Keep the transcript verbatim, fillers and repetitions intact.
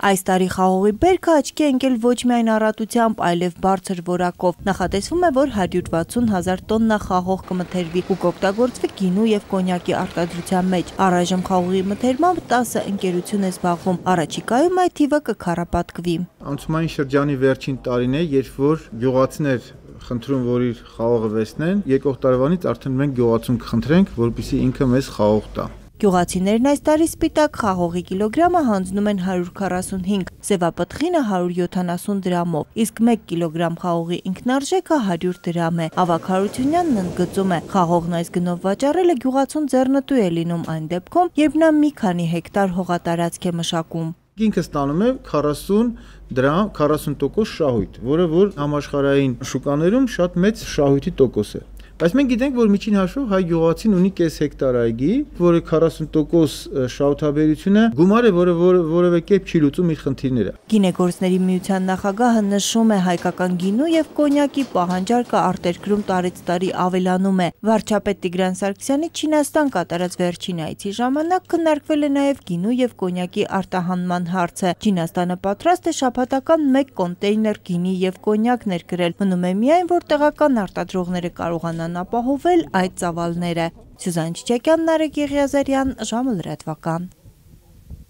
Այս տարի խաղողի բերքը աչքի է ընկել ոչ միայն առատությամբ, այլև բարձր որակով։ Նախատեսվում է, որ հարյուր վաթսուն հազար տոննա խաղող կմթերվի ու կօգտագործվի գինու եւ կոնյակի արտադրության մեջ։ Առայժմ խաղողի մթերմամբ տասը ընկերություն է զբաղվում։ Առաջիկայում այդ թիվը կքառապատկվի։ Անցումային շրջանի վերջին տարին է, երբ որ գյուղացիներ խնդրում, որ իր խաղողը վերցնեն, եկող տարվանից արդեն մենք գյուղացուն կխնդրենք, որպեսզի ինքը մեզ խաղող տա։ Գյուղացիներն այս տարի սպիտակ խաղողի կիլոգրամը հանձնում են հարյուր քառասունհինգ, սևապտղինը հարյուր յոթանասուն դրամով, իսկ մեկ կիլոգրամ խաղողի ինքնարժեքը հարյուր դրամ է։ Ավագ Հարությունյանն ընդգծում է, խաղողն այս գնով վաճառելը գյուղացուն ձեռնտու է լինում այն դեպքում, երբ նա մի քանի հեկտար հողատարածք է մշակում։ Ինքը ստանում է քառասուն դրամ, քառասուն տոկոս շահույթ, որը որ համաշխարհային շուկաներում շատ մեծ շահույթի տոկոս է։ Բայց մենք գիտենք, որ միջին հաշվով հայ գյուղացին ունի կես հեկտար այգի, որը քառասուն տոկոս շահութաբերությունը գումար է, որը որևէ կերպ չի լուծում իր խնդիրները։ Գինեգործների միության նախագահը նշում է, հայկական գինու եւ կոնյակի պահանջարկը արտերկրում տարեց տարի ավելանում է։ Վարչապետ Տիգրան Սարգսյանի Չինաստան կատարած վերջին այցի ժամանակ քննարկվել է նաեւ գինու եւ կոնյակի արտահանման հարցը։ Չինաստանը պատրաստ է շաբաթական մեկ կոնտեյներ գինի եւ կոնյակ ներկրել։ Մնում է միայն, որ տեղական արտադրողները կարողանան ապահովել այդ ծավալները։ Սյուզան Չիչակյան, Նարեկ Եղիազարյան, ժամը լրատվական։